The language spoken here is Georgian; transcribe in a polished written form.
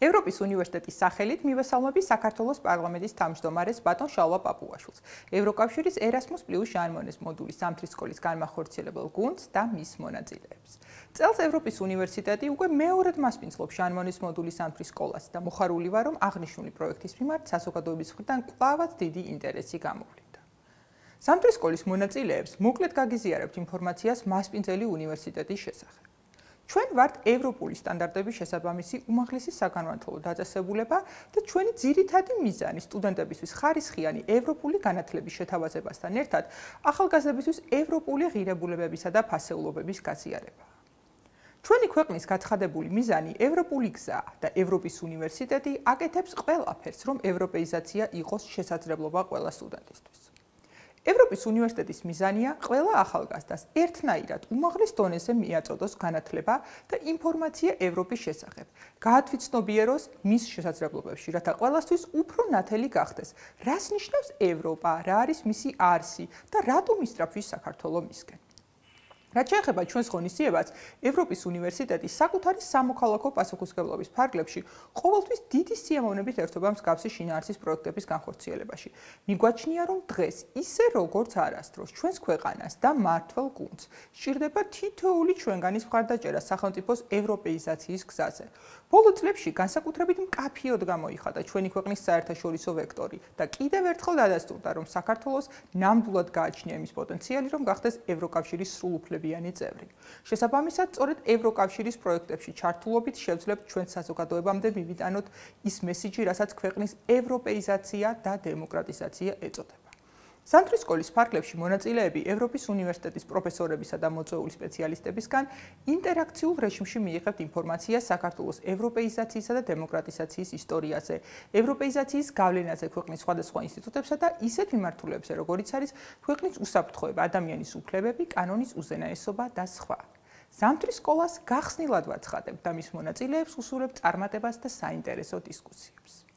ევროპის უნივერსიტეტის სახელით მივესალმები საქართველოს პარლამენტის თავმჯდომარეს ბატონ შალვა პაპუაშვილს, ევროკავშირის Erasmus+ ჟან მონეს მოდულის ზამთრის სკოლის განმახორციელებელ გუნდს და მის მონაწილეებს. წელს ევროპის უნივერსიტეტი უკვე მეორედ მასპინძლობს ჟან მონეს მოდულის ზამთრის სკოლას და მოხარული ვარ, რომ აღნიშნული პროექტის მიმართ საზოგადოების მხრიდან კვლავაც დიდი ინტერესი გამოვლინდა. ზამთრის სკოლის მონაწილეებს მოკლედ გაგიზიარებთ ინფორმაციას მასპინძელი უნივერსიტეტის შესახებ. ჩვენ ვართ ევროპული სტანდარტების შესაბამისი უმაღლესი საგანმანათლებლო დაწესებულება და ჩვენი ძირითადი მიზანი სტუდენტებისთვის ხარისხიანი ევროპული განათლების შეთავაზებასთან ერთად ახალგაზრდებისთვის ევროპული ღირებულებებისა და ფასეულობების გაზიარებაა. ჩვენი ქვეყნის გაცხადებული მიზანი ევროპული გზაა და ევროპის უნივერსიტეტი აკეთებს ყველაფერს, რომ ევროპეიზაცია იყოს შესაძლებლობა ყველა სტუდენტისთვის. ევროპის უნივერსიტეტის მიზანია ყველა ახალგაზრდას ერთნაირად უმაღლეს დონეზე მიაწოდოს განათლება და ინფორმაცია ევროპის შესახებ, გაათვითცნობიეროს მის შესაძლებლობებში, რათა ყველასთვის უფრო ნათელი გახდეს, რას ნიშნავს ევროპა, რა არის მისი არსი და რატომ ისწრაფვის საქართველო მისკენ. რაც შეეხება ჩვენს ღონისძიებას, ევროპის უნივერსიტეტი საკუთარი სამოქალაქო პასუხისმგებლობის ფარგლებში ყოველთვის დიდი სიამოვნებით ერთვება მსგავსი შინაარსის პროექტების განხორციელებაში. მიგვაჩნია, რომ დღეს ისე როგორც არასდროს ჩვენს ქვეყანას და მმართველ გუნდს სჭირდება თითოეული ჩვენგანის მხარდაჭერა სახელმწიფოს ევროპეიზაციის გზაზე. ბოლო წლებში განსაკუთრებით მკაფიოდ გამოიხადა ჩვენი ქვეყნის საერთაშორისო ვექტორი და კიდევ ერთხელ დადასტურდა, რომ საქართველოს ნამდვილად გააჩნია იმის პოტენციალი, რომ გახდეს ევროკავშირის სრულუფლებიანი წევრი. შესაბამისად, სწორედ ევროკავშირის პროექტებში ჩართულობით შევძლებთ ჩვენ საზოგადოებამდე მივიტანოთ ის მესიჯი, რასაც ქვეყნის ევროპეიზაცია და დემოკრატიზაცია ეწოდება. ზამთრის სკოლის ფარგლებში მონაწილეები ევროპის უნივერსიტეტის პროფესორებისა და მოწვეული სპეციალისტებისგან ინტერაქციულ რეჟიმში მიიღებთ ინფორმაციას საქართველოს ევროპეიზაციისა და დემოკრატიზაციის ისტორიაზე, ევროპეიზაციის გავლენაზე ქვეყნის სხვადასხვა ინსტიტუტებსა და ისეთ მიმართულებებზე, როგორიც არის ქვეყნის უსაფრთხოება, ადამიანის უფლებები, კანონის უზენაესობა და სხვა. ზამთრის სკოლას გახსნილად ვაცხადებთ და მის მონაწილეებს უსურვებთ წარმატებას და საინტერესო დისკუსიებს.